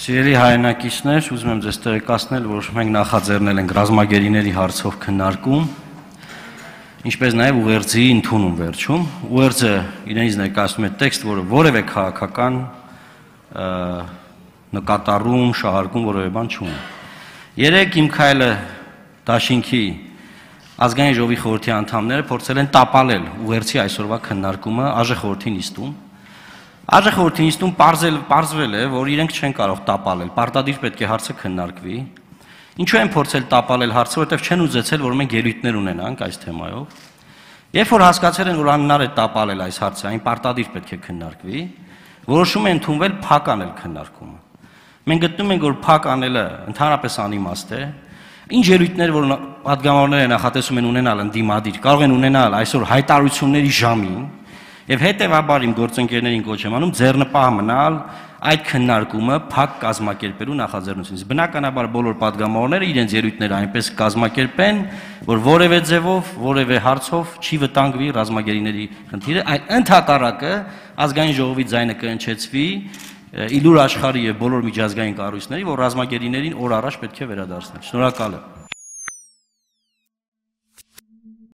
Սիրելի հայրենակիցներ, ուզում եմ ձեզ տեղեկացնել, որ մենք նախաձեռնել ենք ռազմագերիների հարցով քննարկում, ինչպես նաև ուղերձի ընդունում վերջում։ Ուղերձը իրենից ներկայացնում է տեքստ, որը որևէ քաղաքական նկատառում, շահարկում որևէ բան չունի։ Երեկ իմ քայլը դաշինքի ազգային ժողովի խորհրդի անդամները փորձել են տապալել ուղերձի այսօրվա քննարկումը ԱԺ խորհրդի նիստում։ ԱԺ խորհրդի նիստում պարզվել է, որ իրենք չեն կարող տապալել, պարտադիր պետք է հարցը քննարկվի։ Ինչու են փորձել տապալել հարցը, որովհետև չեն ուզեցել, որ մենք ելույթներ ունենանք այս թեմայով։ Երբ որ հասկացել են, որ անհնար է տապալել այս հարցը, այն պարտադիր պետք է քննարկվի, որոշում են ընդունվել փակ անել քննարկումը։ Մենք գտնում ենք, որ փակ անելը ընդհանրապես անիմաստ է։ Ինչ ելույթներ, որ պատգամավորները նախատեսում են ունենալ ընդդիմադիր, կարող են ունենալ այսօր հայտարարությունների ժամին, եւ հետեւաբար իմ գործընկերներին կոչ եմ անում ձեռնպահ մնալ այդ քննարկումը փակ կազմակերպելու նախաձեռնությունից։ Բնականաբար բոլոր պատգամավորները իրենց ելույթները այնպես կազմակերպեն, որ որևէ ձևով, որևէ հարցով չի վտանգվի ռազմագերիների խնդիրը, այլ ընդհակառակը ազգային ժողովի ձայնը կհնչեցվի իլուր աշխարհի եւ բոլոր միջազգային կառույցների, որ ռազմագերիներին օր առաջ պետք է վերադարձնել։ Շնորհակալ եմ։